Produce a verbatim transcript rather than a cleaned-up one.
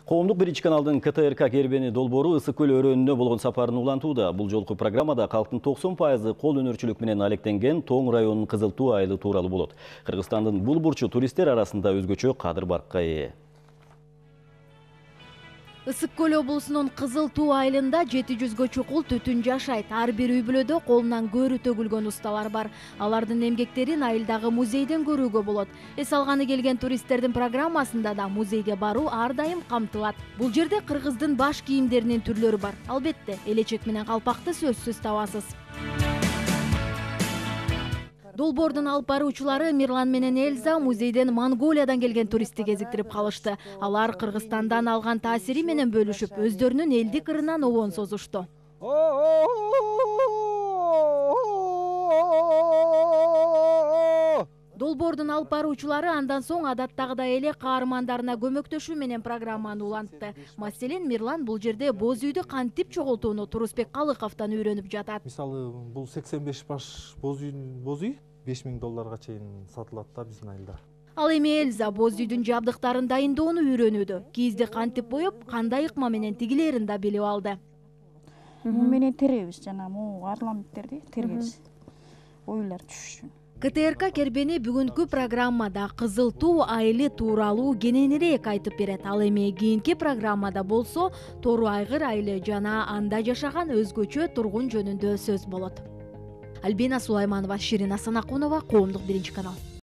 Коомдук биринчи каналдын К Т Р К кербени долбоору Ысык көл өрөөнүнө болгон сапарын улантууда. Бул жолку программада калктын токсон пайызы кол өнөрчүлүк менен алектенген Тоң районунун Кызыл Туу айылы тууралуу болот. Кыргызстандын бул бурчу туристтер арасында өзгөчө кадыр баркка ээ. Ысык көл облусунун Кызыл Туу айылында жети жүзгө чукул түтүн жашайт. Ар бир үй бүлөдө колунан көөрү төгүлгөн усталар бар. Алардын эмгектерин айылдагы музейден көрүүгө болот. Эс алганы келген туристтердин программасында да музейге баруу ар дайым камтылат. Бул жерде кыргыздын баш кийимдеринин түрлөрү бар. Албетте, элечек менен калпакты сөзсүз табасыз. Долбоордун алып баруучулары Мирлан менен Эльза музейден Монголиядан келген туристти кезиктирип калышты. Алар Кыргызстандан алган таасири менен бөлүшүп, өздөрүнүн элдик ырынан обон созушту. Долбоордун алып баруучулары андан соң адаттагыдай эле каармандарына көмөктөшүү менен программаны улантты. Маселен, Мирлан бул жерде боз үйдү кантип чогултууну Турусбек Калыковдон үйрөнүп жатат. Мисалы, бул сексен беш баш боз үйдүн боз үй беш миң долларга чейин сатылат да биздин айылда. Ал эми Эльза боз үйдүн жабдыктарын дайындоону үйрөнүүдө. Кийизди кантип боеп, кандай ыкма менен тигилерин да билип алды. Муну менен теребиз, жана могу орламенттерди тергебиз. Оюлар түшүш үчүн. К Т Р К кербени бүгүнкү программада Кызыл Туу айылы тууралуу кененирээк айтып берет. Ал эми кийинки программада болсо Тору айгыр айылы жана анда жашаган өзгөчө тургун жөнүндө сөз болот. Альбина Сулайманова, Ширина Санакунова, Коомдук биринчи канал.